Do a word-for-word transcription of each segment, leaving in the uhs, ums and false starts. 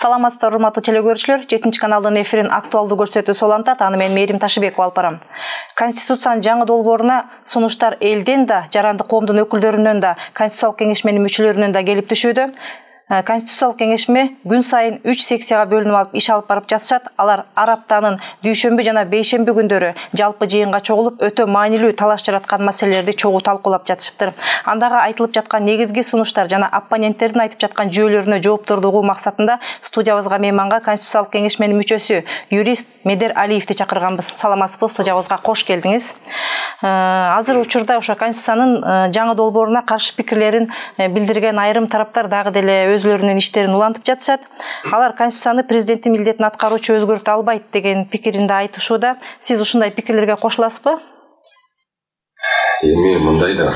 Саламатсыздар, урматтуу телекөрүүчүлөр. жетинчи каналдын эфирин актуалдуу көрсөтүү солантат. Аны мен Мээрим Ташыбекова алып барам. Конституциянын жаңы долбооруна сунуштар элден да, жарандык коомдун өкүлдөрүнөн да, Конституциялык кеңешменин мүчөлөрүнөн да келип түшүүдө. Конституциялык кеңешме күн сайын үч секцияга бөлүнүп алып иш алып барып жатышат. Алар ар аптанын дүйшөмбү жана бейшемби күндөрү жалпы жыйынга чогулуп, өтө маанилүү талаш жараткан маселелерди чогуу талкуулап жатышыптыр. Андагы айтылып жаткан негизги сунуштар жана оппоненттердин айтып жаткан жүйөлөрүнө жоопторду угуу максатында студиябызга мейманга Конституциялык кеңешменин мүчөсү, юрист Медер Алиевди чакырганбыз. Саламатсызбы, студиябызга кош келдиңиз. Азыр учурда ошо Конституциянын жаңы долбооруна каршы пикирлерин билдирген айрым тараптар дагы деле өзлөрүнүн иштерин улантып жатышат. Алар Конституцияны президенттин милдетин аткаруучу өзгөртө албайт деген пикиринде айтышууда. Сиз ушундай пикирлерге кошуласызбы? Эми мындай да,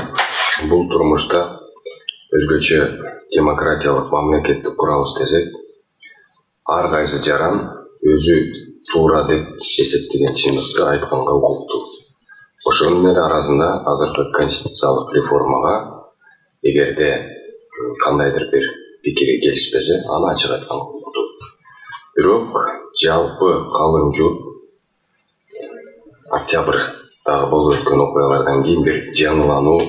бул турмушта өзгөчө демократиялык мамлекетти курабыз десек, ар кайсы жаран өзү туура деп эсептеген чындыкты айтканга укуктуу. Ошонун арасында азыркы конституциялык реформага эгерде кандайдыр бир пикири келишпесе, аны ачык айткан укуктуу. Бирок жалпы калың журт октябрдагы болуп өткөн окуялардан кийин бир жаңылануу,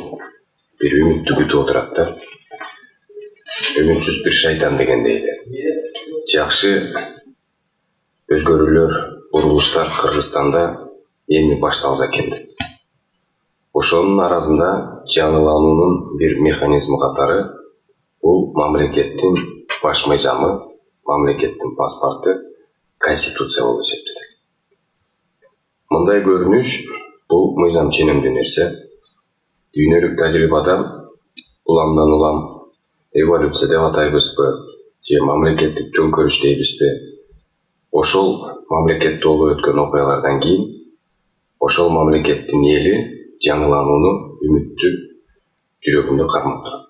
бир үмүттү күтүп отурат да. Үмүтсүз бир шайтан дегендей эле. Жакшы өзгөрүүлөр, бурулуштар Кыргызстанда эми башталса экен деп. Ошонун арасында жаңылануунун бир механизми катары бул мамлекеттин баш мыйзамы, мамлекеттин паспорту Конституция болуп эсептелет. Мындай көрүнүш бул мыйзам ченемдүү нерсе. Дүйнөлүк тажрыйбада уламдан улам эволюция деп атайбызбы, же мамлекеттик төңкөрүш дейбизби? Ошол мамлекетте болуп өткөн окуялардан кийин ошол мамлекеттин эли жаңыланууну үмүттү жүрөгүндө кармап турат.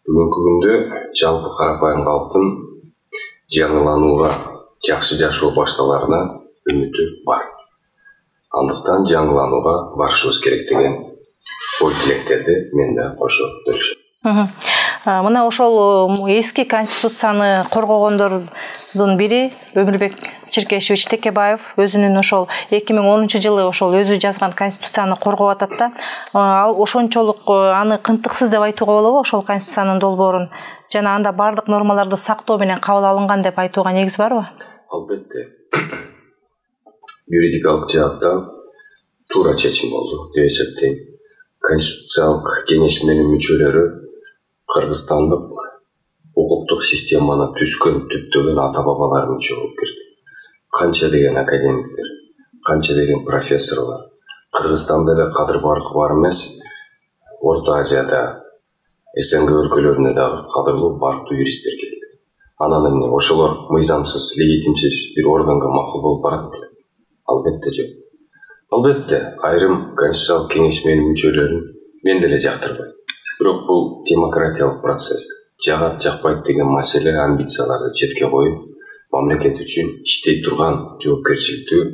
Бүгүнкү күндө жалпы карапайым калктын жаңыланууга, жакшы жашоо башталарына үмүтү бар. Андыктан жаңыланууга барышыбыз керек деген ой тилектерди мен да кошо бөлүшөм. Мына ошол эски конституцияны коргогондордун бири Өмүрбек Черкешевич Текебаев өзүнүн ошол эки миң онунчу жылы ошол өзү жазган конституцияны коргоп атат да. Ал ошончолук аны кынтыксыз деп айтууга болобу ошол конституциянын долбоорун? Жана анда бардык нормаларды сактоо менен кабыл алынган деп айтууга негиз барбы? Албетте. Юридикалык жааттан туура чечим болду деп эсептейм. Конституциялык кеңешменин мүчөлөрү Кыргызстандык укуктук системаны түзгөн, түптөгөн ата-бабалар мүчө болуп кирди. Канча деген академиктер, канча деген профессорлор, Кыргызстанда эле кадыр баркы бар эмес, Орто Азияда, СНГ өлкөлөрүнө дагы кадырлуу барктуу юристтер келди. Анан эмне, ошолор мыйзамсыз, легитимсиз бир органга макул болуп барат беле? Албетте жок. Албетте, айрым конституциялык кеңешменин мүчөлөрүн мен деле жактырбайм. Бирок бул демократиялык процесс. Жагат жакпайт деген маселе, амбицияларды четке коюп, мамлекет үчүн иштей турган жоопкерчиликтүү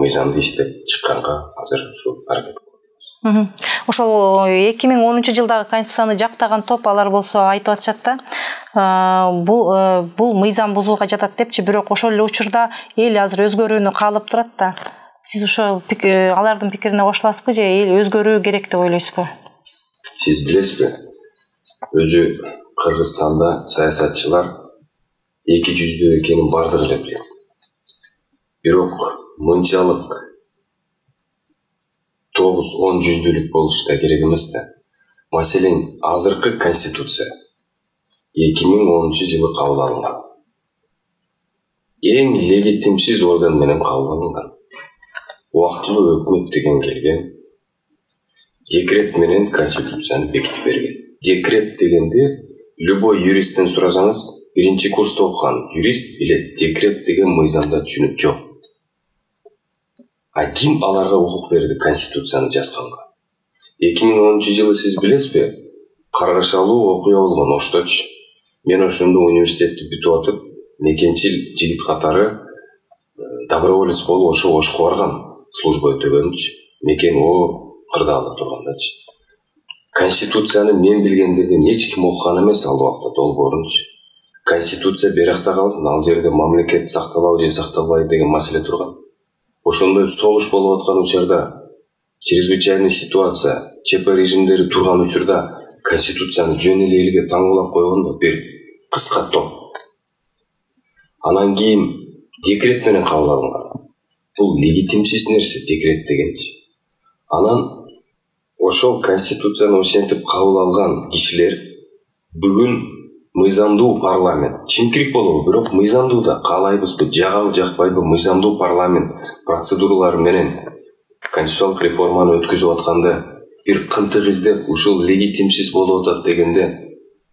мыйзамды иштеп чыкканга азыр ушу аракет кылып атабыз. Ошол эки миң онунчу жылдагы конституцияны жактаган топ алар болсо айтып атышат да, бул бул мыйзам бузууга жатат депчи, бирок ошол эле учурда эл азыр өзгөрүүнү каалап турат да. Сиз ошол алардын пикирине кошуласызбы же эл өзгөрүү керек деп ойлойсузбу? Сиз билесизби? Өзү Кыргызстанда саясатчылар эки жүздүү экенин бардыгы эле билет. Бирок мынчалык тогуз он жүздүүлүк болуш да керек эмес да. Маселен, азыркы конституция эки миң онунчу жылы кабыл алынган. Эң легитимсиз орган менен кабыл алынган. Убактылуу өкмөт деген келген, декрет менен конституцияны бекитип берген. Декрет дегенде любой юристтен сурасаңыз, биринчи курста окуган юрист билет, декрет деген мыйзамда түшүнүк жок. А ким аларга укук берди конституцияны жазганга? эки миң онунчу жылы сиз билесизби? Каргашалуу окуя болгон Ошточу. Мен ошондо университетти бүтүп атып, мекенчил жигит катары доброволец болуп ошо Ошко барган, служба өтөгөнчү. Мекен о кырдаалда тургандачы. Конституцияны мен билгендерден эч ким окуган эмес ал убакта долбоорунчу. конституция беракта калсын, ал жерде мамлекет сакталабы же сакталбайбы деген маселе турган. Ошондой согуш болуп аткан учурда, чрезвычайный ситуация, ЧП режимдери турган учурда конституцияны жөн эле элге таңбалап койгондо бир кыска топ. Анан кийин декрет менен кабыл алынган. Бул легитимсиз нерсе, декрет дегенчи. Анан ошол конституцияны ошентип кабыл алган кишилер бүгүн мыйзамдуу парламент, чимкирик болобу, бирок мыйзамдуу да, каалайбызбы, жагабы жакпайбы, мыйзамдуу парламент процедуралары менен конституциялык реформаны өткөзүп атканда бир кынтык издеп, ушул легитимсиз болуп атат дегенде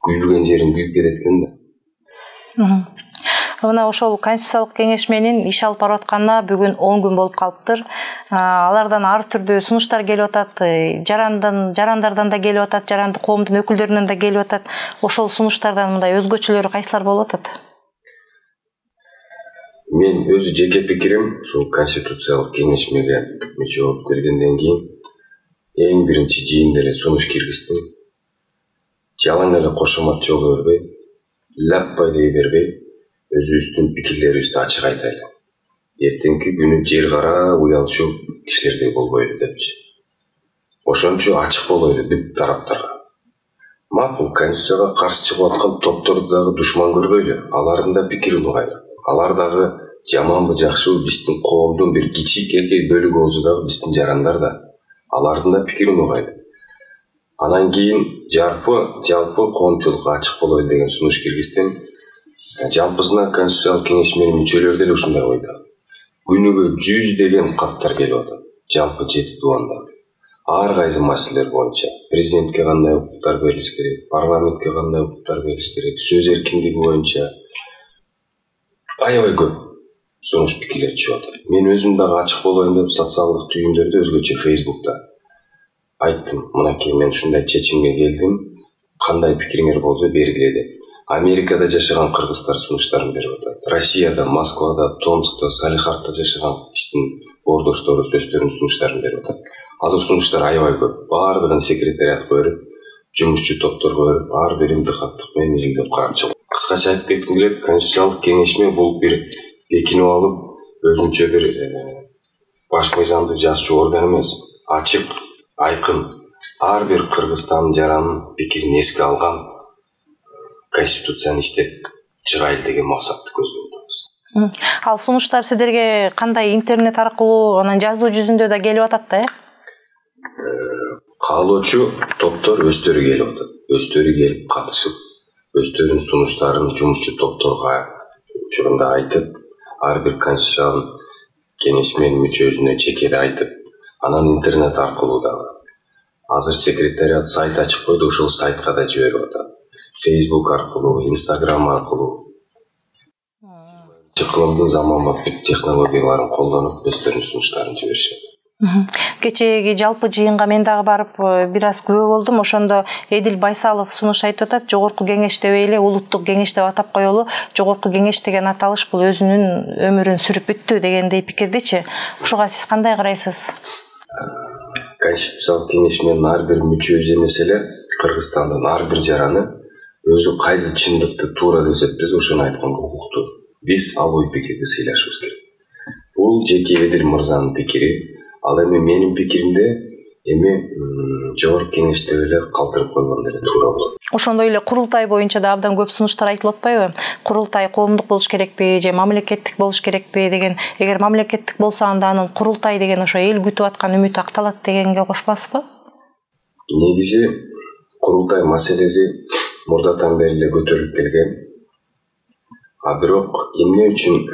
күйбөгөн жерин күйүп кетет экен да. Мына ошол конституциялык кеңеш менен иш алып барып атканына бүгүн он күн болуп калыптыр. Алардан ар түрдүү сунуштар келип атат, жарандан, жарандардан да келип атат, жарандык коомдун өкүлдөрүнөн да келип атат. Ошол сунуштардан мындай өзгөчөлөрү кайсылар болуп атат? Мен өзү жеке пикирим, ушул конституциялык кеңешмеге мүчө болуп келгенден кийин эң биринчи жыйында эле сунуш киргиздим. Жалаң эле кошомат жолу бербей, лаппай дей бербей, өзүбүздүн пикирлерибизди ачык айтайлы. Эртеңки күнү жер кара уялчу кишилердей болбойлу депчи. Ошончо ачык болойлу бүт тараптарга. Макул, конституцияга каршы чыгып аткан топторду дагы душман көрбөйлү, алардын да пикирин угайлы. Алар дагы жаманбы жакшыбы биздин коомдун бир кичикей бөлүгү болсо дагы биздин жарандар да, алардын да пикирин угайлы. Анан кийин жарпы жалпы коомчулукка ачык болойлу деген сунуш киргиздим. Жалпысына конституциялык кеңешменин мүчөлөрү деле ушундай ойдо. Күнүгө жүздөгөн каттар келип атат. Жалпы жети дубанда. Ар кайсы маселелер боюнча президентке кандай укуктар берилиш керек, парламентке кандай укуктар берилиш керек, сөз эркиндиги боюнча аябай көп сунуш пикирлер чыгып атат. Мен өзүм дагы ачык болоюн деп социалдык түйүндөрдө өзгөчө Facebook'та айттым. Мынакей мен ушундай чечимге келдим. Кандай пикириңер болсо бергиле деп. Америкада жашаган кыргыздар сунуштарын берип атат. Россияда, Москвада, Томскта, Салихардта жашаган биздин ордоштору сөздөрүнүн сунуштарын берип атат. Азыр сунуштар аябай көп. Баардыгын секретариатка берип, жумушчу топторго берип, ар бирин дыкаттык менен изилдеп карап чыгып. Кыскача айтып кетким келет, конституциялык кеңешме бул бир бекинип алып, өзүнчө бир баш мыйзамды жазчу орган эмес. Ачык, айкын, ар бир Кыргызстан жаранын пикирин эске алган конституцияны иштеп чыгайлы деген максатты көздөп атабыз. Ал сунуштар сиздерге кандай интернет аркылуу, анан жазуу жүзүндө да келип атат да, э? Каалоочу топтор өздөрү келип атат. Өздөрү келип катышып, өздөрүнүн сунуштарын жумушчу топторго учурунда айтып, ар бир конституциялык кеңешменин мүчөсүнө чекеде айтып, анан интернет аркылуу дагы. Азыр секретариат сайт ачып койду, ошол сайтка да жиберип атат. Facebook аркылуу, Instagram аркылуу. Чыкылымдын заманбап технологияларын колдонуп, өздөрүнүн сунуштарын жиберишет. Кечеги жалпы жыйынга мен дагы барып бир аз күбө болдум. Ошондо Эдил Байсалов сунуш айтып атат, жогорку кеңеш дебей эле улуттук кеңеш деп атап коелу. Жогорку кеңеш деген аталыш бул өзүнүн өмүрүн сүрүп бүттү дегендей пикирдичи. Ушуга сиз кандай карайсыз? Конституциялык кеңешменин ар бир мүчөсү эмес эле Кыргызстандын ар бир жараны өзү кайсы чындыкты туура деп эсептесе ошону айтканга укуктуу. Биз ал ой пикирди сыйлашыбыз керек. Бул жеке Эдил мырзанын пикири. Ал эми менин пикиримде эми жогорку кеңеште эле калтырып койгондо эле туура болот. Ошондой эле курултай боюнча да абдан көп сунуштар айтылып атпайбы? Курултай коомдук болуш керекпи же мамлекеттик болуш керекпи деген. Эгер мамлекеттик болсо анда анын курултай деген ошо эл күтүп аткан үмүт акталат дегенге кошпосузбу? Негизи курултай маселеси мурдатан бери эле көтөрүлүп келген. А бирок эмне үчүн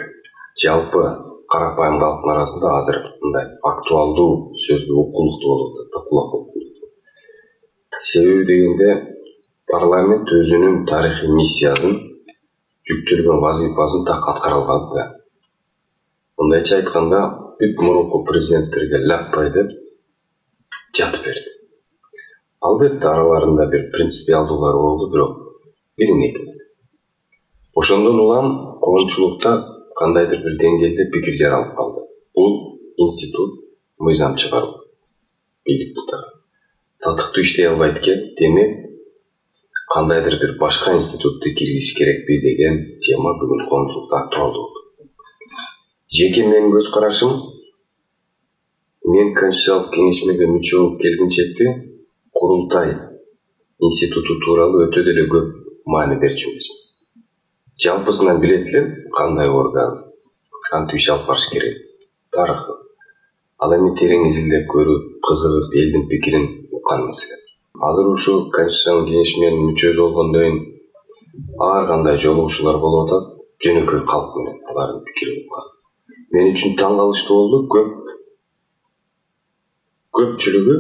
жалпы карапайым калктын арасында азыр мындай актуалдуу сөзгө укулуктуу болуп атат, кулак укулуктуу. Себеби дегенде парламент өзүнүн тарыхый миссиясын, жүктөлгөн вазифасын так аткара албады да. Мындайча айтканда, бүт мурунку президенттерге лаппай деп жатып берди. Албетте араларында бир принципиалдуулар болду, бирок бирин экин. Ошондон улам коомчулукта кандайдыр бир деңгээлде пикир жаралып калды. Бул институт мыйзам чыгаруу. Бийлик бутары. Татыктуу иштей албайт экен, демек кандайдыр бир башка институтту киргизиш керекпи деген тема бүгүн коомчулукта актуалдуу болду. Жеке менин көз карашым, мен Конституциялык кеңешмеге мүчө болуп келгенчекте курултай институту тууралуу өтө деле көп маани берчү эмесмин. Жалпысынан билет элем кандай орган, кантип иш алып барыш керек, тарыхы. Ал эми терең изилдеп көрүп, кызыгып, элдин пикирин уккан маселе. Азыр ушу Конституциялык кеңешменин мүчөсү болгондон кийин ар кандай жолугушуулар болуп атат, жөнөкөй калк менен алардын пикирин уккан. Мен үчүн таң калыштуу болду, көп көпчүлүгү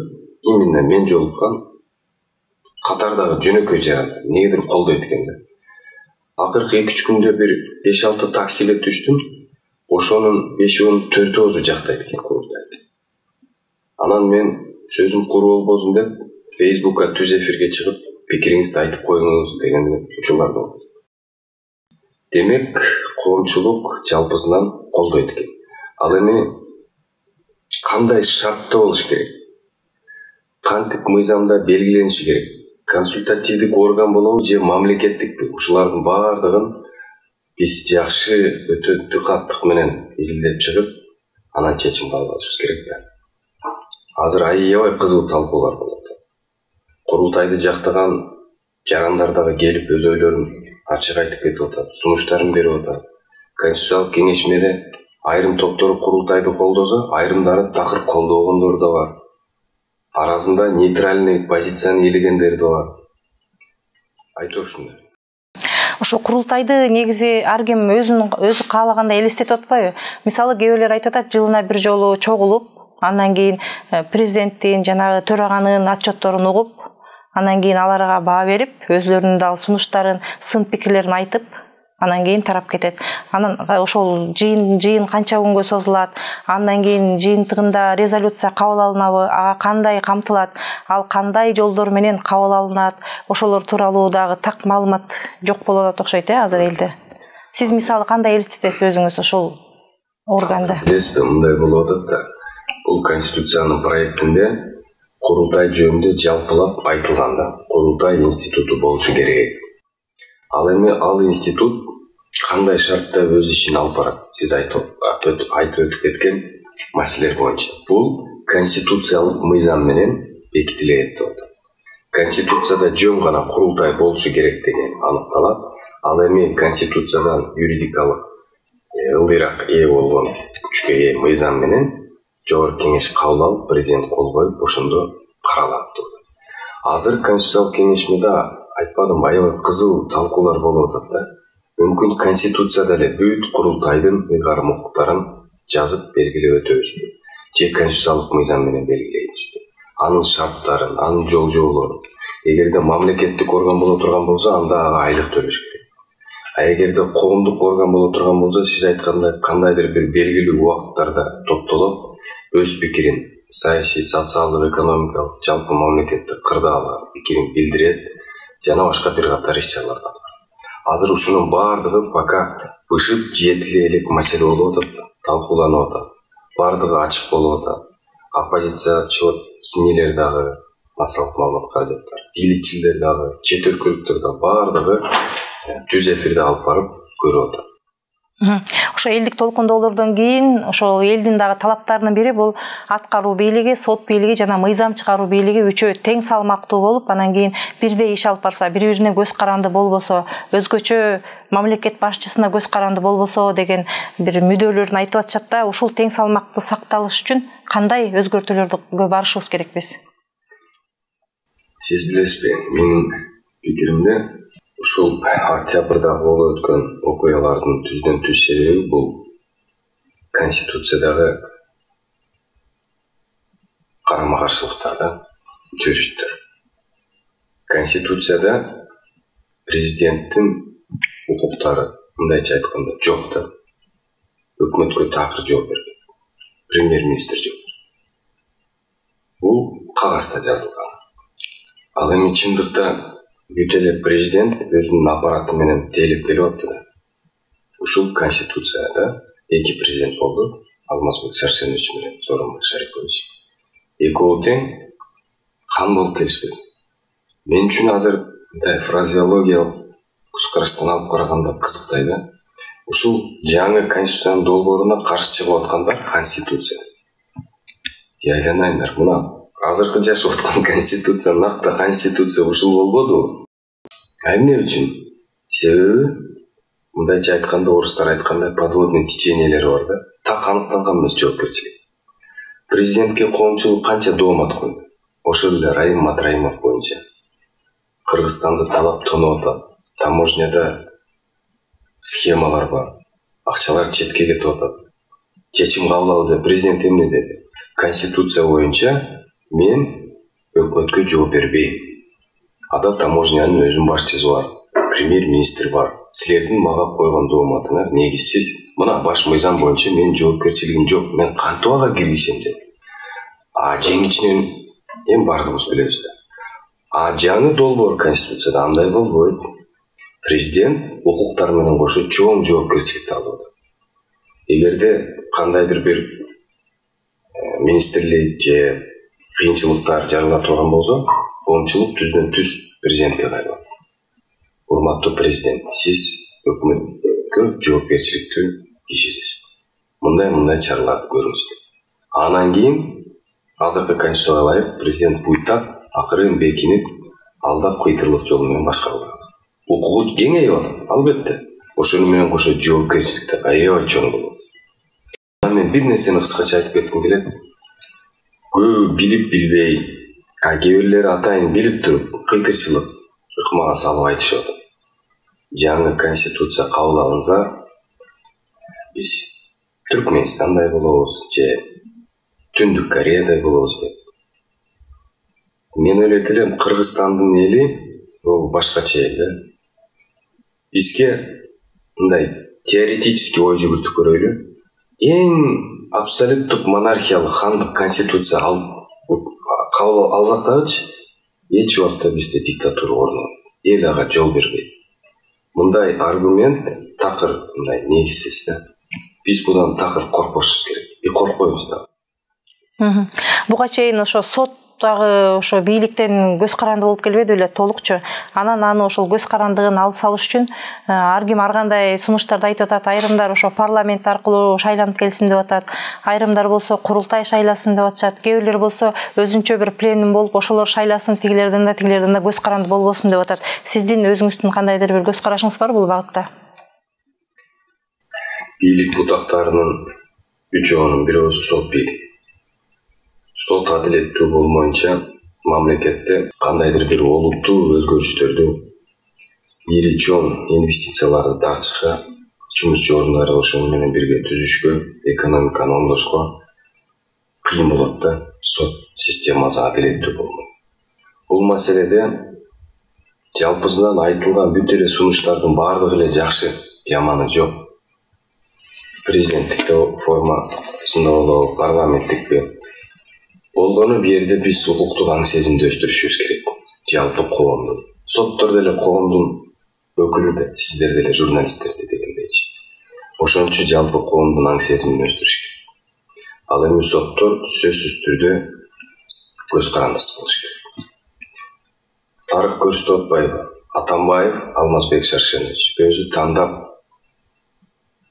именно мен жолуккан катардагы жөнөкөй жарандар негедир колдойт экен да. Акыркы эки үч күндө бир беш алты таксиге түштүм. Ошонун бешөөсүн төртөөсү жактайт экен курултайды. Анан мен сөзүм куру болбосун деп Фейсбукка түз эфирге чыгып, пикириңизди айтып коюңуз деген учурлар болду. Демек, коомчулук жалпысынан колдойт экен. Ал эми кандай шартта болуш керек? Кантип мыйзамда белгилениши керек? Консультативдик орган болобу же мамлекеттикпи? Ушулардын баардыгын биз жакшы өтө дыкаттык менен изилдеп чыгып, анан чечим кабыл алышыбыз керек да. Азыр аябай кызуу талкуулар болуп атат. Курултайды жактаган жарандар дагы келип өз ойлорун ачык айтып кетип атат, сунуштарын берип атат. Конституциялык кеңешмеде айрым топтор курултайды колдосо, айрымдары такыр колдогондор да бар. Арасында нейтральный позицияны ээлегендер да бар. Айтор ушундай. Ошо курултайды негизи ар ким өзүнүн өзү каалагандай элестетип атпайбы? Мисалы кээ бирлер айтып атат, жылына бир жолу чогулуп, андан кийин президенттин жанагы төраганын отчетторун угуп, анан кийин аларга баа берип, өзлөрүнүн дагы сунуштарын, сын пикирлерин айтып, анан кийин тарап кетет. Анан ошол жыйын жыйын канча күнгө созулат, андан кийин жыйынтыгында резолюция кабыл алынабы, ага кандай камтылат, ал кандай жолдор менен кабыл алынат, ошолор тууралуу дагы так маалымат жок болуп атат окшойт э азыр элде. Сиз мисалы кандай элестетесиз өзүңүз ошол органды? Билесизби, мындай болуп атат да. Бул конституциянын проектинде курултай жөнүндө жалпылап айтылган да, курултай институту болушу керек. Ал эми ал институт кандай шартта өз ишин алып барат? Сиз айтып өтүп кеткен маселелер боюнча. Бул конституциялык мыйзам менен бекитилет деп атат. Конституцияда жөн гана курултай болушу керек деген аныкталат. Ал эми конституциядан юридикалык ылдыйраак ээ болгон күчкө ээ мыйзам менен жогорку кеңеш кабыл алып, президент кол коюп, ошондо каралат деп атат. Азыр конституциялык кеңешмеде айтпадым, аябай кызыл талкуулар болуп атат да. Мүмкүн конституцияда эле бүт курултайдын ыйгарым укуктарын жазып белгилеп өтөбүзбү? Же конституциялык мыйзам менен белгилейбизби? Анын шарттарын, анын жол жоболорун. Эгерде мамлекеттик орган боло турган болсо, анда ага айлык төлөш керек. А эгерде коомдук орган боло турган болсо, сиз айткандай кандайдыр бир белгилүү убакыттарда топтолуп, өз пикирин, саясий, социалдык, экономикалык, жалпы мамлекеттик кырдаалар пикирин билдирет, жана башка бир катар иш-чараларды алат. Азыр ушунун баардыгы пока бышып жетиле элек маселе болуп атат, талкууланып атат. Баардыгы ачык болуп атат. Оппозициячылык синелер дагы, массалык маалымат каражаттар, бийликчилер дагы, чет өлкөлүктөр дагы баардыгы түз эфирде алып барып көрүп атат. Ошо элдик толкундоолордон кийин ошол элдин дагы талаптарынын бири бул аткаруу бийлиги, сот бийлиги жана мыйзам чыгаруу бийлиги үчөө тең салмактуу болуп, анан кийин бирдей иш алып барса, бири-бирине көз каранды болбосо, өзгөчө мамлекет башчысына көз каранды болбосо деген бир мүдөлөрүн айтып атышат да. Ушул тең салмакты сакталыш үчүн кандай өзгөртүүлөргө барышыбыз керекпиз? Сиз билесизби, менин пикиримде ушул октябрда болуп өткөн окуялардын түздөн түз себеби бул конституциядагы карама каршылыктарда чөйрүштөр. Конституцияда президенттин укуктары, мындайча айтканда, жок да. Өкмөткө такыр жооп бербейт. Премьер-министр жок. Бул кагазда жазылган. Ал эми чындыкта бүт эле президент өзүнүн аппараты менен тейлеп келип атты да. Ушул конституцияда эки президент болду, Алмазбек Шаршенович менен Сооронбай Шарипович. Экөө тең кан болуп келишпеди. Мен үчүн азыр мындай фразеологиялык көз караштан алып караганда кызыктай да. Ушул жаңы конституциянын долбооруна каршы чыгып аткандар конституция. Яйланайындар, мына азыркы жашап аткан конституция накты конституция ушул болбоду. А эмне үчүн? Себеби мындайча айтканда, орустар айткандай подводный течениелер бар да. Так аныктанган эмес жоопкерчилик. Президентке коомчулук канча доомат койду. Ошол эле Райым Матраимов боюнча Кыргызстанды талап тонуп атат. Таможняда схемалар бар. Акчалар четке кетип атат. Чечим кабыл алды. Президент эмне деди? Конституция боюнча мен өкмөткө жооп бербейм. Ада таможнянын өзүнүн башчысы бар, премьер-министр бар. Силердин мага койгон дооматыңар негизсиз. Мына баш мыйзам боюнча мен жоопкерчилигим жок. Мен кантип ага киргизем деди. А жеңичинен эми бардыгыбыз билебиз да. А жаңы долбоор конституцияда андай болбойт. Президент укуктар менен кошо чоң жоопкерчиликти алып атат. Эгерде кандайдыр бир министрлик же кыйынчылыктар жарала турган болсо, коомчулук түздөн түз президентке кайрылат. Урматтуу президент, сиз өкмөткө жоопкерчиликтүү кишисиз. Мындай-мындай чараларды көрүңүз. Анан кийин азыркы конституцияга ылайык президент буйтап акырын бекинип, алдап кыйтырлык жол менен башкарылат. Укугу кеңейип атат, албетте. Ошону менен кошо жоопкерчиликти аябай чоң болот. Мен бир нерсени кыскача айтып кетким келет. Көбү билип билбей, а кээ бирлери атайын билип туруп, кыйтырчылык ыкмага салып айтышып атат. Жаңы конституция кабыл алынса, биз Түркмөнстандай болобуз, же Түндүк Кореядай болобуз деп. Мен ойлойт элем, Кыргызстандын эли бул башкача эл да. Бизге мындай теоретический ой жүгүртүп көрөйлү. Эң абсолюттук монархиялык хандык конституция кабыл алсак дагычы, эч убакта бизде диктатура орнобойт. Эл ага жол бербейт. Мындай аргумент такыр мындай негизсиз да. Биз будан такыр коркпошубуз керек. И коркпойбуз да. Буга чейин ошо сот дагы ошо бийликтен көз каранды болуп келбеди беле толукчу. Анан аны ошол көз карандыгын алып салыш үчүн ар ким ар кандай сунуштарды айтып атат. Айрымдар ошо парламент аркылуу шайланып келсин деп атат. Айрымдар болсо курултай шайласын деп атышат. Кээ бирлер болсо өзүнчө бир пленум болуп ошолор шайласын, тигилерден да тигилерден да көз каранды болбосун деп атат. Сиздин өзүңүздүн кандайдыр бир көз карашыңыз бар бул багытта? Бийлик бутактарынын үчөөнүн бирөөсү сот бийлиги. Сот адилеттүү болмоюнча мамлекетте кандайдыр бир олуттуу өзгөрүштөрдү, ири чоң инвестицияларды тартышка, жумушчу орундарды ошону менен бирге түзүшкө, экономиканы оңдошко кыйын болот да. Сот системасы адилеттүү болмойт. Бул маселеде жалпысынан айтылган бүт эле сунуштардын баардыгы эле жакшы, жаманы жок. Президенттик формасында болобу, парламенттикпи болгону бул жерде биз укуктук аң сезимди өстүрүшүбүз керек. Жалпы коомдун, соттор деле коомдун өкүлү да, сиздер деле журналисттер дегендейчи. Ошончу жалпы коомдун аң сезимин өстүрүш керек. Ал эми соттор сөзсүз түрдө көз карандысыз болуш керек. Тарык Көрсөтбаев, Атамбаев, Алмазбек Шаршенович өзү тандап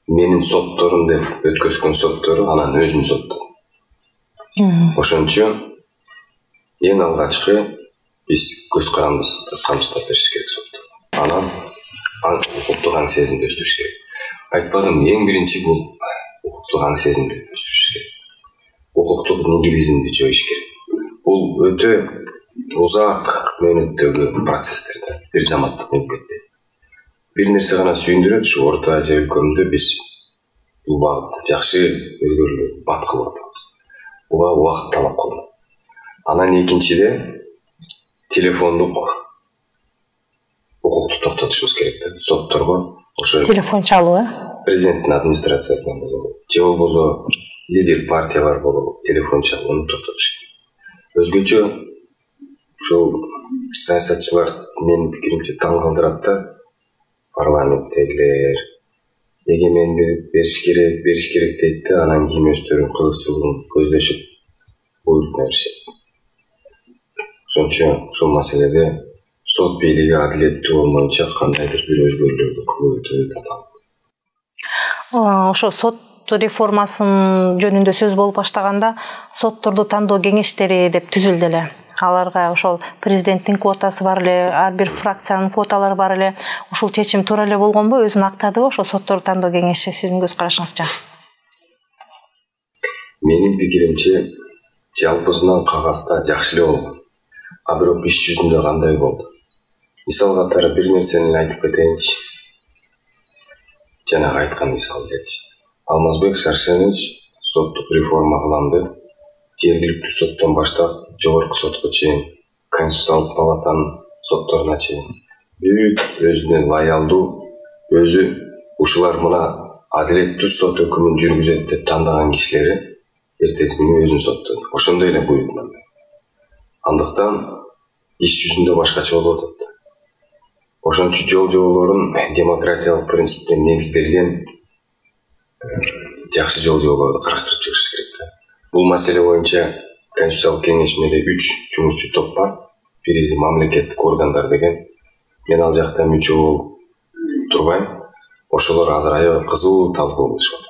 менин сотторум деп өткөзгөн соттору анан өзүн соттогон. Ошончо эң алгачкы биз көз карандысызды камсыздап бериш керек сотто. Анан укуктук аң сезимди өстүрүш керек. Айтпадым, эң биринчи бул укуктук аң сезимди өстүрүш керек. Укуктук нигилизмди жоюш керек. Бул өтө узак мөөнөттөгү процесстер да, бир заматта болуп кетпейт. Бир нерсе гана сүйүндүрөт, ушу Орто Азия өлкөмүндө биз бул багытта жакшы өзгөрүүлөр бат кылып атабыз. Буга убакыт талап кылынат. Анан экинчиде телефондук укукту токтотушубуз керек да. Сотторго ошо телефон чалуу, э? Президенттин администрациясынан болобу, же болбосо лидер партиялар болобу, телефон чалууну токтотуш керек. Өзгөчө ушул саясатчылар менин пикиримче таң калтырат да. Парламенттегилер эгемендик бериш керек, бериш керек дейт да, анан кийин өздөрүнүн кызыкчылыгын көздөшүп буйрук беришет. Ошончо ушул маселеде сот бийлиги адилеттүү болмоюнча кандайдыр бир өзгөрүүлөрдү кылуу өтө татаал. Ошо сот реформасын жөнүндө сөз болуп баштаганда сотторду тандоо кеңештери деп түзүлдү эле. Аларга ошол президенттин квотасы бар эле, ар бир фракциянын квоталары бар эле. Ушул чечим туура эле болгонбу, өзүн актадыбы ошо сотторду тандоо кеңеши, сиздин көз карашыңызча? Менин пикиримче жалпысынан кагазда жакшы эле болгон. А бирок иш жүзүндө кандай болду? Мисал катары бир нерсени айтып кетейинчи. Жанагы айткан мисал элечи. Алмазбек Шаршенович соттук реформа кыламды. Жергиликтүү соттон баштап жогорку сотко чейин, Конституциялык палатанын сотторуна чейин бүт өзүнө лаялдуу, өзү ушулар мына адилеттүү сот өкүмүн жүргүзөт деп тандаган кишилери эртеси күнү өзүн соттойт. Ошондой эле буйрукман. Андыктан иш жүзүндө башкача болуп атат. Ошон үчүн жол жоболорун демократиялык принципте негизделген жакшы жол жоболорду караштырып чыгыш керек. Бул маселе боюнча Конституциялык кеңешмеде үч жумушчу топ бар. Бириси мамлекеттик органдар деген. Мен ал жакта мүчө болуп турбайм. Ошолор азыр аябай кызуу талкуу кылышат.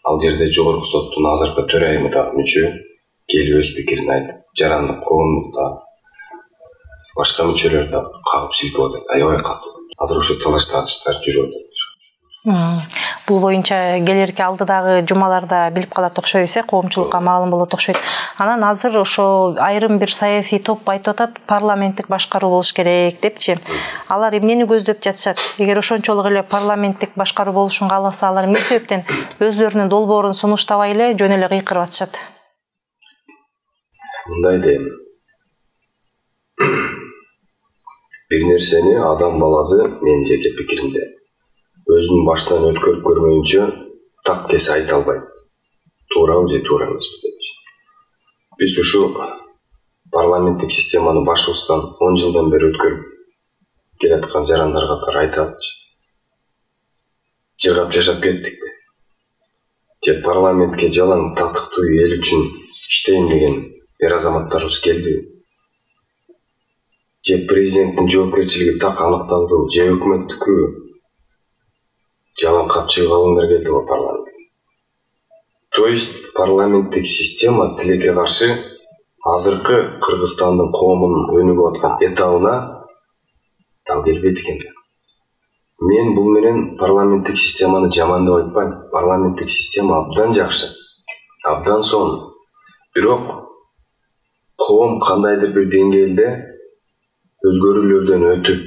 Ал жерде жогорку соттун азыркы төрайымы да мүчө келип өз пикирин айтып, жарандык коомдукта башка мүчөлөр да кагып силкеп атат. Аябай катуу. Азыр ошо талаш тартыштар жүрүп атат. Бул боюнча келерки алдыдагы жумаларда билип калат окшойбуз, коомчулукка маалым болот окшойт. Анан азыр ошо айрым бир саясий топ айтып атат, парламенттик башкаруу болуш керек депчи. Алар эмнени көздөп жатышат? Эгер ошончолук эле парламенттик башкаруу болушун кааласа, алар эмне себептен өзлөрүнүн долбоорун сунуштабай эле жөн эле кыйкырып атышат? Мындай дейм. Бир нерсени адам баласы, менин жеке пикиримде, өзүнүн башынан өткөрүп көрмөйүнчө так кесе айта албайт. Туурабы же туура эмеспи депчи. Биз ушу парламенттик системаны башыбыздан он жылдан бери өткөрүп келаткан жарандар катары айталычы. Жыргап жашап кеттик. Же парламентке жалаң татыктуу эл үчүн иштейм деген эр азаматтарыбыз келди. Же президенттин жоопкерчилиги так аныкталды, же өкмөттүкү жалаң капчыгы алыңдар келди го парламент. То есть парламенттик система тилекке каршы азыркы Кыргызстандын коомунун өнүгүп аткан этабына так келбейт экен. Мен бул менен парламенттик системаны жаман деп айтпайм. Парламенттик система абдан жакшы, абдан сонун. Бирок коом кандайдыр бир деңгээлде өзгөрүүлөрдөн өтүп,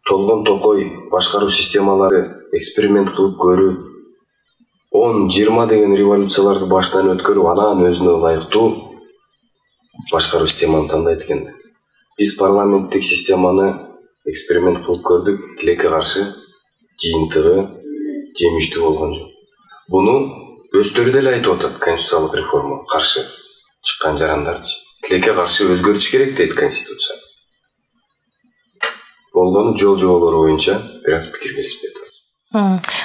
толгон токой башкаруу системалары эксперимент кылып көрүп, он жыйырма деген революцияларды баштан өткөрүп, анан өзүнө ылайыктуу башкаруу системаны тандайт экен. Биз парламенттик системаны эксперимент кылып көрдүк, тилекке каршы жыйынтыгы жемиштүү болгон жок. Буну өздөрү деле айтып атат, конституциялык реформага каршы чыккан жарандарчы. Тилекке каршы өзгөртүш керек дейт конституция. Болгону жол жоболору боюнча бир аз пикир беришпейт.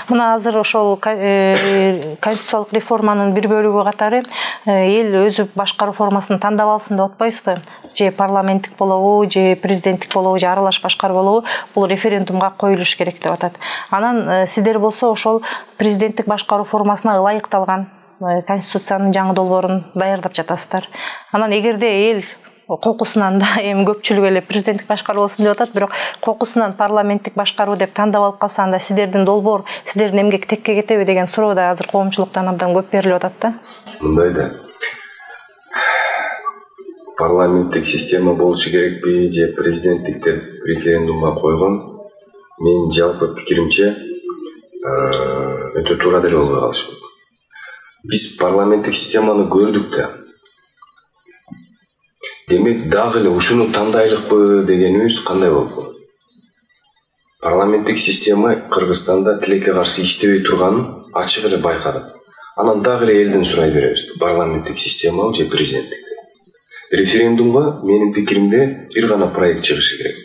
Мына азыр ошол конституциялык реформанын бир бөлүгү катары эл өзү башкаруу формасын тандап алсын деп атпайсызбы? Же парламенттик болобу, же президенттик болобу, же аралаш башкаруу болобу, бул референдумга коюлуш керек деп атат. Анан сиздер болсо ошол президенттик башкаруу формасына ылайыкталган конституциянын жаңы долбоорун даярдап жатасыздар. Анан эгерде эл кокусунан да эми көпчүлүк эле президенттик башкаруу болсун деп атат, бирок кокусунан парламенттик башкаруу деп тандап алып калса, анда сиздердин долбоор, сиздердин эмгек текке кетеби деген суроо да азыр коомчулуктан абдан көп берилип атат да. Мындай да. Парламенттик система болушу керекпи же президенттик деп референдумга койгон, менин жалпы пикиримче өтө туура деле болбой калышы мүмкүн. Биз парламенттик системаны көрдүк да. Демек дагы эле ушуну тандайлыкпы дегенибиз кандай болду? Парламенттик система Кыргызстанда тилекке каршы иштебей турганын ачык эле байкадык. Анан дагы эле элден сурай беребиз. Парламенттик система же президенттик. Референдумга менин пикиримде бир гана проект чыгышы керек.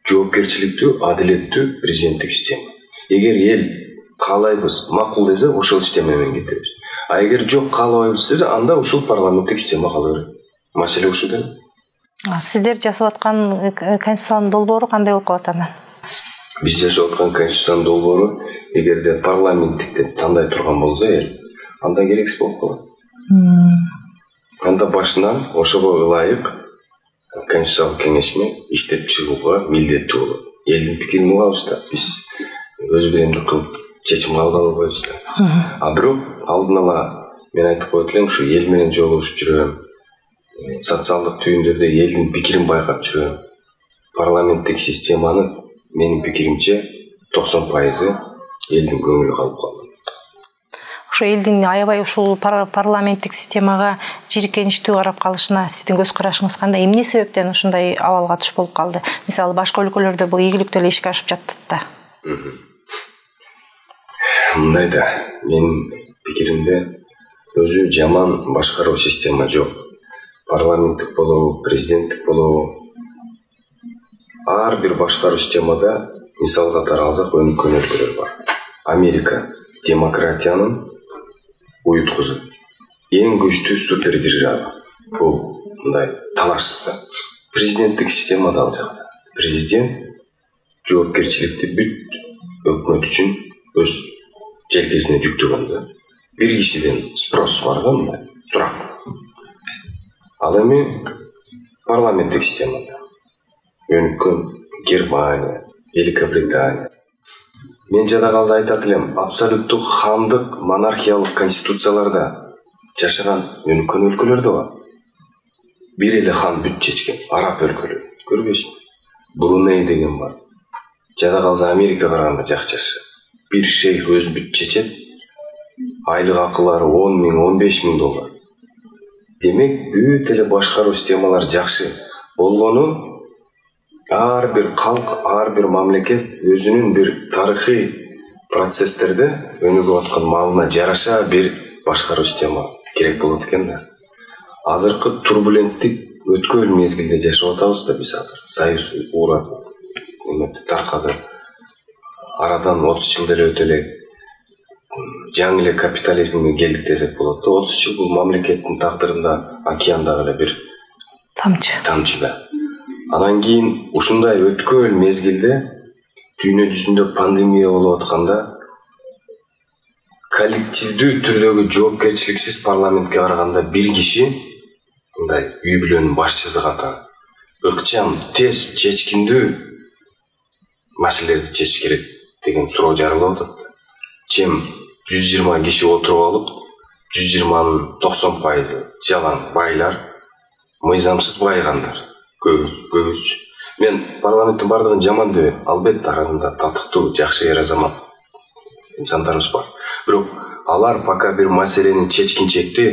Жоопкерчиликтүү, адилеттүү президенттик система. Эгер эл каалайбыз, макул десе, ошол система менен кетебиз. А эгер жок каалабайбыз десе, анда ушул парламенттик система кала берет. Маселе ушул да. Сиздер жасап аткан конституциянын долбоору кандай болуп калат анан? Биз жашап аткан конституциянын долбоору эгерде парламенттик деп тандай турган болсо эл, анда керексиз болуп калат. Анда башынан ошого ылайык конституциялык кеңешме иштеп чыгууга милдеттүү болот. Элдин пикирин угабыз да, биз өз биремдик кылып чечим кабыл албайбыз да. А бирок алдын ала мен айтып коет элем, ушу эл менен жолугушуп жүрөм, социалдык түйүндөрдө элдин пикирин байкап жүрөм. Парламенттик системаны менин пикиримче токсон пайызы элдин көңүлү калып калды. Ошо элдин аябай ушул парламенттик системага жийиркеничтүү карап калышына сиздин көз карашыңыз кандай? Эмне себептен ушундай абалга туш болуп калды? Мисалы, башка өлкөлөрдө бул ийгиликтүү эле ишке ашып жатат да. Мындай да, менин пикиримде өзү жаман башкаруу система жок. Парламенттик болобу, президенттик болобу, ар бир башкаруу системада мисал катары алсак өнүккөнлөр бар. Америка демократиянын уюткузу, эң күчтүү супердержава. Бул мындай талашсыз да. Президенттик системада алсак, президент жоопкерчиликти бүт өкмөт үчүн өз желкесине жүктөгөн да. Бир кишиден спрос бар да, мындай сурак. Ал эми парламенттик системада өнүккөн Германия, Великобритания. Мен жада калса айтат элем, абсолюттук хандык монархиялык конституцияларда жашаган өнүккөн өлкөлөр да бар. Бир эле хан бүт чечкен, араб өлкөлөрү. Көрбөйсүңбү? Бруней деген бар. Жада калса Америка караганда жакшы жашашат. Бир шейх өз бүт чечет, айлык акылары он миң, он беш миң доллар. Демек, бүт эле башкаруу системалар жакшы болгону, ар бир калк, ар бир мамлекет өзүнүн бир тарыхый процесстерде өнүгүп аткан маалына жараша бир башкаруу система керек болот экен да. Азыркы турбуленттик өткөл мезгилде жашап атабыз да биз азыр. Союз урап, эметти таркады. Арадан отуз жыл деле өтө элек жаңы эле капитализмге келдик десек болот да. отуз жыл бул мамлекеттин тагдырында океандагы эле бир тамчы. Тамчы да. Анан кийин ушундай өткөл мезгилде дүйнө жүзүндө пандемия болуп атканда коллективдүү түрдөгү жоопкерчиликсиз парламентке караганда бир киши мындай үй бүлөнүн башчысы катары ыкчам, тез, чечкиндүү маселелерди чечиш керек деген суроо жаралып атат. Чем жүз жыйырма киши отуруп алып, жүз жыйырманын токсон пайызы жалаң байлар, мыйзамсыз байыгандар. Көбүс, көбүс. Мен парламенттин бардыгын жаман дебейм. Албетте арасында татыктуу, жакшы эр азамат инсандарыбыз бар. Бирок алар пока бир маселени чечкинчекти,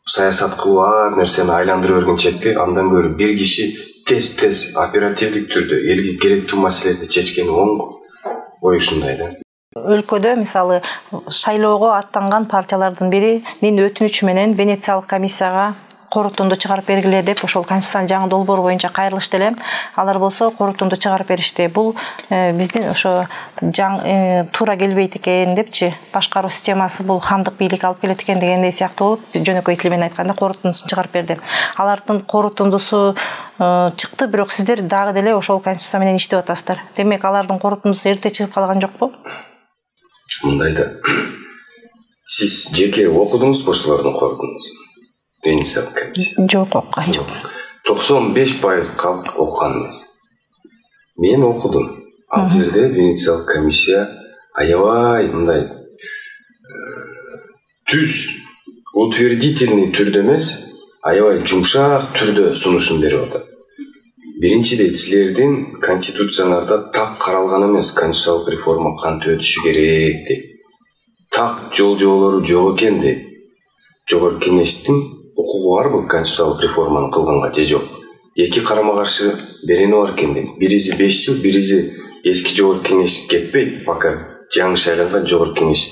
саясат кылып ар нерсени айландырып бергенчекти, андан көрө бир киши тез-тез оперативдик түрдө элге керектүү маселелерди чечкени оң. Ой ушундай да. Өлкөдө мисалы шайлоого аттанган партиялардын биринин өтүнүчү менен Венециялык комиссияга корутунду чыгарып бергиле деп ошол конституциянын жаңы долбоору боюнча кайрылышты эле. Алар болсо корутунду чыгарып беришти. Бул э, биздин ошо жаң э, туура келбейт экен депчи. Башкаруу системасы бул хандык бийлик алып келет экен дегендей сыяктуу болуп, жөнөкөй тил менен айтканда корутундусун чыгарып берди. Алардын корутундусу э, чыкты, бирок сиздер дагы деле ошол конституция менен иштеп атасыздар. Демек алардын корутундусу эрте чыгып калган жокпу? Мындай да. Сиз жеке окудуңузбу ошолордун корутундусун? Венециялык комиссия. Жок, окуган жок. токсон беш пайыз калп окуган эмес. Мен окудум. Ал жерде Венециялык комиссия аябай мындай түз утвердительный түрдө эмес, аябай жумшак түрдө сунушун берип атат. Биринчиден, силердин конституцияларда так каралган эмес конституциялык реформа кантип өтүшү керек дейт. Так жол жолору жок экен дейт. Жогорку кеңештин укугу барбы конституциялык реформаны кылганга же жок? Эки карама каршы берени бар экен дейт. Бириси беш жыл, бириси эски жогорку кеңеш кетпейт, пока жаңы шайланган жогорку кеңеш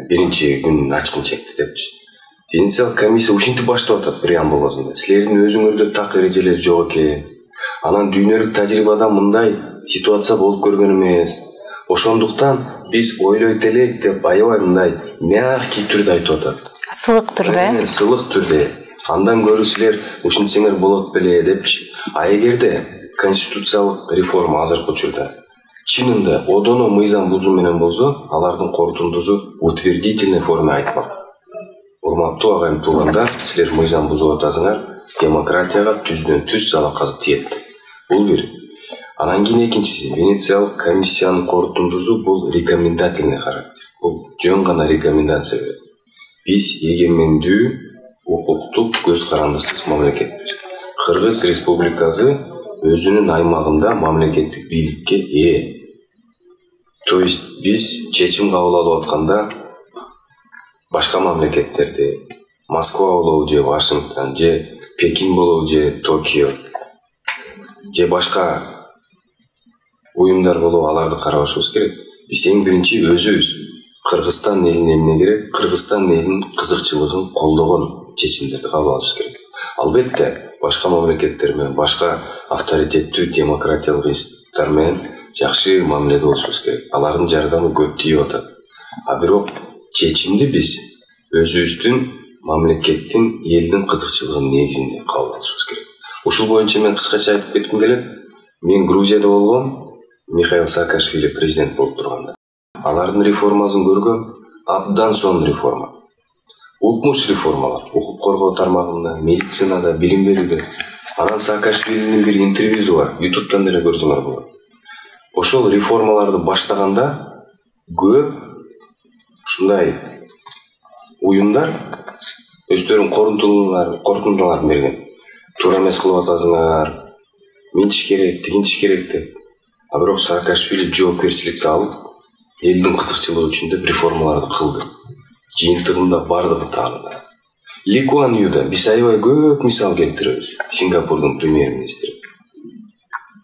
биринчи күнүн ачкын чекти депчи. Венециялык комиссия ушинтип баштап атат преамбуласында. Силердин өзүңөрдө так эрежелер жок экен. Анан дүйнөлүк тажрыйбада мындай ситуация болуп көргөн эмес. Ошондуктан биз ойлойт элек деп аябай мындай мягкий түрдө айтып атат. Сылык түрдө, э? Сылык түрдө. Андан көрө силер ушинтсеңер болот беле депчи. А эгерде конституциялык реформа азыркы учурда чынында одоно мыйзам бузуу менен болсо, алардын корутундусу утвердительный форма айтмак. Урматтуу агайым туугандар, силер мыйзам бузуп атасыңар, демократияга түздөн түз залакасы тиет. Бул бир. Анан кийин экинчиси, Венециялык комиссиянын корутундусу бул рекомендательный характер. Бул жөн гана рекомендация берет. Биз эгемендүү, укуктук, көз карандысыз мамлекетпиз. Кыргыз Республикасы өзүнүн аймагында мамлекеттик бийликке ээ. То есть биз чечим кабыл алып атканда башка мамлекеттерди, Москва болобу же Вашингтон, же Пекин болобу же Токио, же башка уюмдар болобу аларды карабашыбыз керек. Биз эң биринчи өзүбүз Кыргызстан элине эмне керек? Кыргызстан элинин кызыкчылыгын колдогон чечимдерди кабыл алышыбыз керек. Албетте, башка мамлекеттер менен, башка авторитеттүү демократиялык институттар менен жакшы мамиледе болушубуз керек. Алардын жардамы көп тийип атат. А бирок чечимди биз өзүбүздүн мамлекеттин, элдин кызыкчылыгынын негизинде кабыл алышыбыз керек. Ушул боюнча мен кыскача айтып кетким келет. Мен Грузияда болгом, Михаил Саакашвили президент болуп турганда. Алардын реформасын көргөм, абдан сонун реформа. Укмуш реформалар, укук коргоо тармагында, медицинада, билим берүүдө. Анан Саакашвилинин бир интервьюсу бар, ютубтан деле көрсөңөр болот. Ошол реформаларды баштаганда көп ушундай уюмдар өздөрүнүн корутундуларын, корутундуларын берген. Туура эмес кылып атасыңар, минтиш керек, тигинтиш керек деп. А бирок Саакашвили жоопкерчиликти алып, элдин кызыкчылыгы үчүн деп реформаларды кылды. Жыйынтыгында бардыгы тааныда. Ли Куан Юда биз аябай көп мисал келтиребиз. Сингапурдун премьер-министри.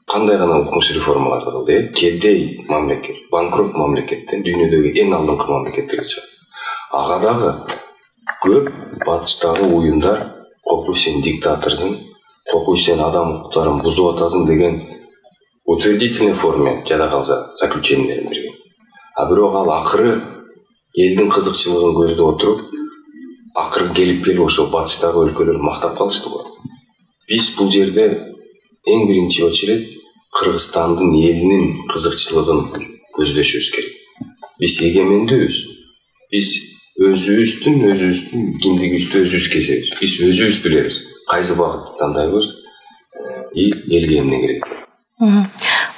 Кандай гана укмуш реформаларды кылды? Кедей мамлекет, банкрот мамлекеттен дүйнөдөгү эң алдыңкы мамлекеттерге чыкты. Ага дагы көп батыштагы уюмдар кокуй сен диктаторсың, кокуй сен адам укуктарын бузуп атасың деген утвердительный форма жада калса заключениелерин берген. А бирок ал акыры элдин кызыкчылыгын көздөп отуруп, акыры келип келип ошол батыштагы өлкөлөр мактап калышты го. Биз бул жерде эң биринчи очерет Кыргызстандын элинин кызыкчылыгын көздөшүбүз керек. Биз эгемендүүбүз. Биз өзүбүздүн өзүбүздүн киндигибизди өзүбүз кесебиз. Биз өзүбүз билебиз кайсы багытты тандайбыз и элге эмне керек.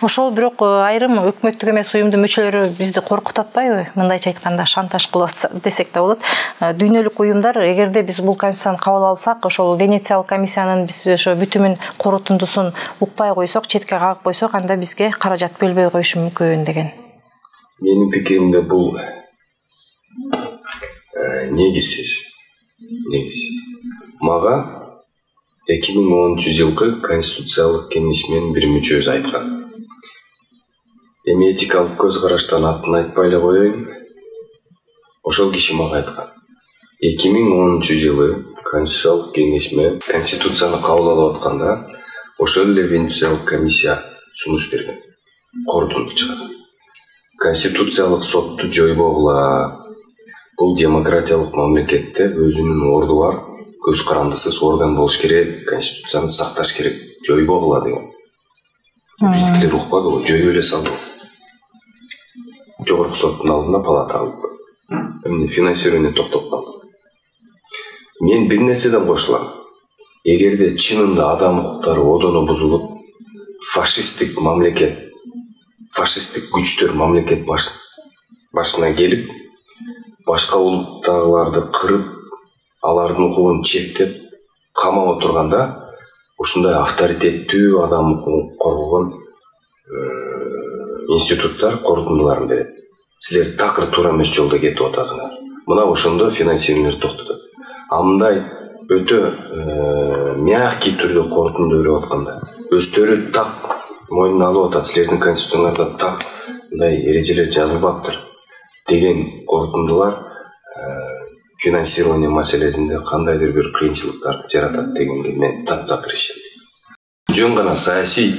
Ошол бирок айрым өкмөттүк эмес уюмдун мүчөлөрү бизди коркутуп атпайбы? Мындайча айтканда шантаж кылып атса десек да болот. Дүйнөлүк уюмдар эгерде биз бул конституцияны кабыл алсак, ошол Венециялык комиссиянын биз ошо бүтүмүн корутундусун укпай койсок, четке кагып койсок, анда бизге каражат бөлбөй коюшу мүмкүн деген. Менин пикиримде бул негизсиз. Негизсиз. Мага эки миң онунчу жылкы конституциялык кеңешменин бир мүчөсү айткан. Эми этикалык көз караштан атын айтпай эле коеюн. Ошол киши мага айткан. эки миң онунчу жылы конституциялык кеңешме конституцияны кабыл алып атканда, ошол эле Венециялык комиссия сунуш берген. Корутунду чыгарган. Конституциялык сотту жойбогула. Бул демократиялык мамлекетте өзүнүн орду бар, көз карандысыз орган болуш керек, конституцияны сакташ керек, жойбогула деген. Биздикилер укпады го, жоюп эле салды. Жогорку соттун алдында палата алып койду. Эмне финансирование токтоп калды. Мен бир нерседен кошулам. Эгерде чынында адам укуктары одоно бузулуп, фашисттик мамлекет, фашисттик күчтөр мамлекет башына келип, башка улуттагыларды кырып, алардын укугун чектеп, камап отурганда, ушундай авторитеттүү адам укугун коргогон институттар корутундуларын берет. Силер такыр туура эмес жолдо кетип атасыңар. Мына ошондо финансирование токтотот. А мындай өтө мягкий түрдө корутунду берип атканда, өздөрү так мойнуна алып атат, силердин конституцияларда так мындай эрежелер жазылбаптыр деген корутундулар финансирование маселесинде кандайдыр бир кыйынчылыктарды жаратат дегенге мен таптак ишенем. Жөн гана саясий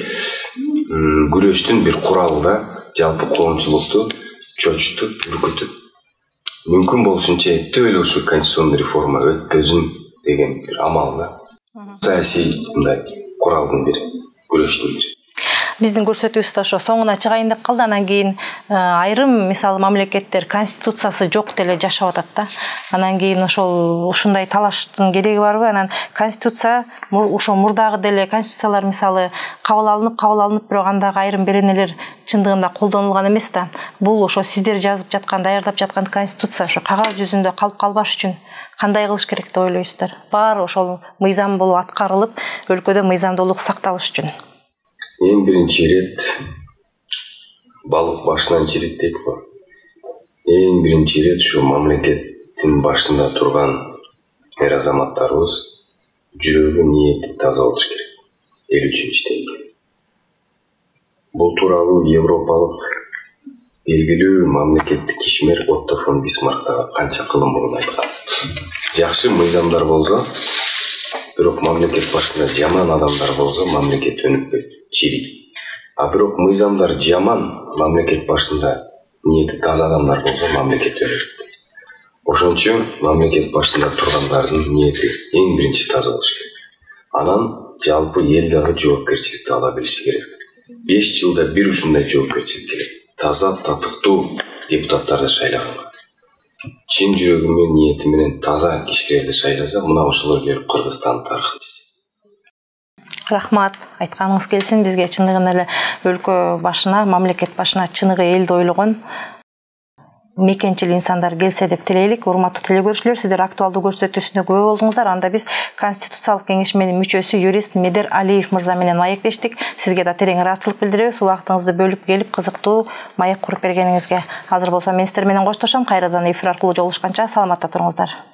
күрөштүн бир куралы да жалпы коомчулукту чочутуп, үркүтүп, мүмкүн болушунча эптеп эле ушу конституционный реформа өтпөсүн деген бир амал да. Саясий мындай куралдын бири, күрөштүн бири. Биздин көрсөтүүбүз ошо соңуна чыгайын деп калды. Анан кийин айрым мисалы мамлекеттер конституциясы жок деле жашап атат да. Анан кийин ошол ушундай талаштын кереги барбы? Анан конституция ошо мурдагы деле конституциялар мисалы кабыл алынып, кабыл алынып, бирок андагы айрым беренелер чындыгында колдонулган эмес да. Бул ошо сиздер жазып жаткан, даярдап жаткан конституция ошо кагаз жүзүндө калып калбаш үчүн кандай кылыш керек деп ойлойсуздар? Баары ошол мыйзам болуп аткарылып, өлкөдө мыйзамдуулук сакталыш үчүн. Эң биринчи ирет балык башынан чирит дейт го. Эң биринчи ирет ушу мамлекеттин башында турган эр азаматтарыбыз жүрөгү, ниети таза болуш керек. Эл үчүн иштейт. Бул тууралуу европалык белгилүү мамлекеттик ишмер Отто фон Бисмарк да канча кылым мурун айткан. Жакшы мыйзамдар болсо, бирок мамлекет башында жаман адамдар болсо, мамлекет өнүкпөйт, чирийт. А бирок мыйзамдар жаман, мамлекет башында ниети таза адамдар болсо, мамлекет өнүкөт. Ошон үчүн мамлекет башында тургандардын ниети эң биринчи таза болуш керек. Анан жалпы эл дагы жоопкерчиликти ала билиши керек. беш жылда бир ушундай жоопкерчилик керек. Таза, татыктуу депутаттарды шайлаганга. Чын жүрөгү менен, ниети менен таза кишилерди шайласа, мына ошолор келип Кыргызстан тарыхын чечет. Рахмат, айтканыңыз келсин. Бизге чындыгында эле өлкө башына, мамлекет башына чыныгы элди ойлогон мекенчил инсандар келсе деп тилейлик. Урматтуу телекөрүүчүлөр, сиздер актуалдуу көрсөтүүсүнө күбө болдуңуздар. Анда биз Конституциялык кеңешменин мүчөсү юрист Медер Алиев мырза менен маектештик. Сизге да терең ыраазычылык билдиребиз. Убактыңызды бөлүп келип кызыктуу маек куруп бергениңизге. Азыр болсо мен сиздер менен коштошом. Кайрадан эфир аркылуу жолугушканча саламатта туруңуздар.